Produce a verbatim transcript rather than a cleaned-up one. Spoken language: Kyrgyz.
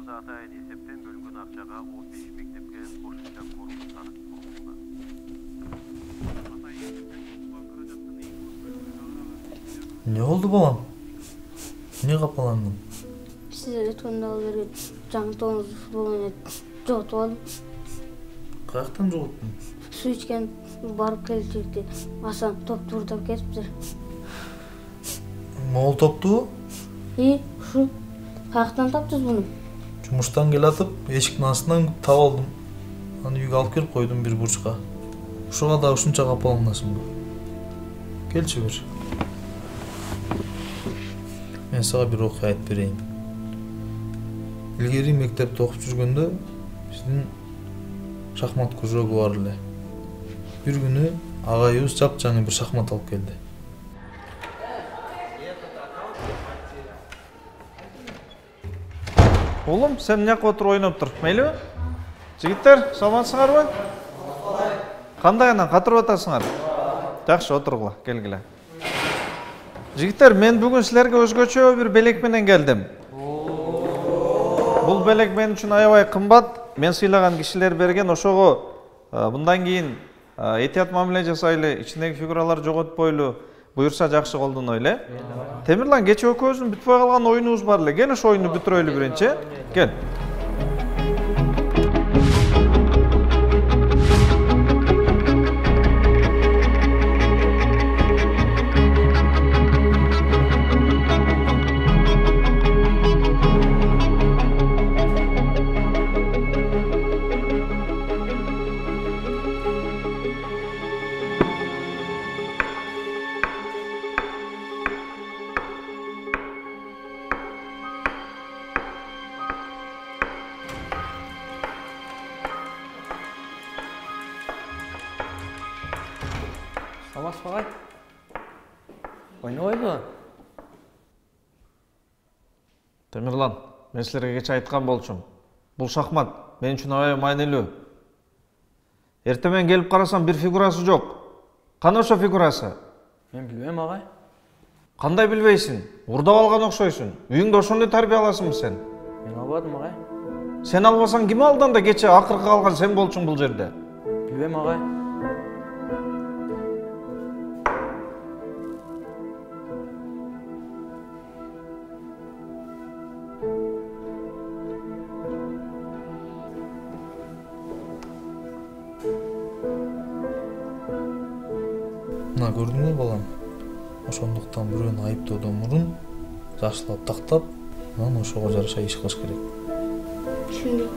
жылда атайын эсептен бөлүнгөн акчага он беш мектепке кошумча корулуштар курулууда. Не болду балам? Эмне капаландың? Сиздер өткөндө ал жерге жаңы тоңуз футбол ойнойт. Жоготуп алдым. Каяктан жоготтуң? Суу ичкен барып келчекти. Асан топту урдап кетиптир. Могул топту? И, ушу. Каяктан таптыңыз буну? Жумуштан келатып, эшиктин астынан таап алдым. Аны үйгө алып келип койдум бир бурчка. Ушуга да ушунча капаланасыңбы? Келчи бер. Мен сага бир окуя айтып берейин. Илгери мектепте окуп жүргөндө биздин шахмат кружогу бар эле. Бир күнү агайыбыз жапжаңы бир шахмат алып келди. Oğlum sen ne oturup oynап tur? Meyli? Жигиттер, саламатсыңарбы? Кандай анан катырып атасыңар? Жакшы, отургула, келгиле. Жигиттер, мен бүгүн силерге өзгөчө бир белек менен келдим. Бул белек мен үчүн аябай кымбат. Мен сыйлаган кишилер берген, ошого мындан кийин этият мамиле жасайлы, ичиндеги фигуралар жоготпойлу буюрса жакшы колдоно эле. Темирлан, кече экөөбүздүн бүтпөй калган оюнубуз бар эле. Кел ошо оюнду бүтүрөлү биринчи. Кел. Саламатсыз багай. Ойнобойбу? Темирлан, мен силерге кече айткан болчумун. Бул шахмат мен үчүн аябай маанилүү. Эртең менен келип карасам бир фигурасы жок. Кана ошо фигурасы? Мен билбейм агай. Кандай билбейсиң? Урдап алган окшойсуң. Үйүңдө ошондой тарбия аласыңбы сен? Мен албадым агай. Сен албасаң ким алды анда кече акыркы калган сен болчуң бул жерде? Билбейм агай. Мына көрдүңбү балам? Ошондуктан бирөөнү айыптоодон мурун жакшылап тактап, анан ошого жараша иш кылыш керек. Түшүндүм.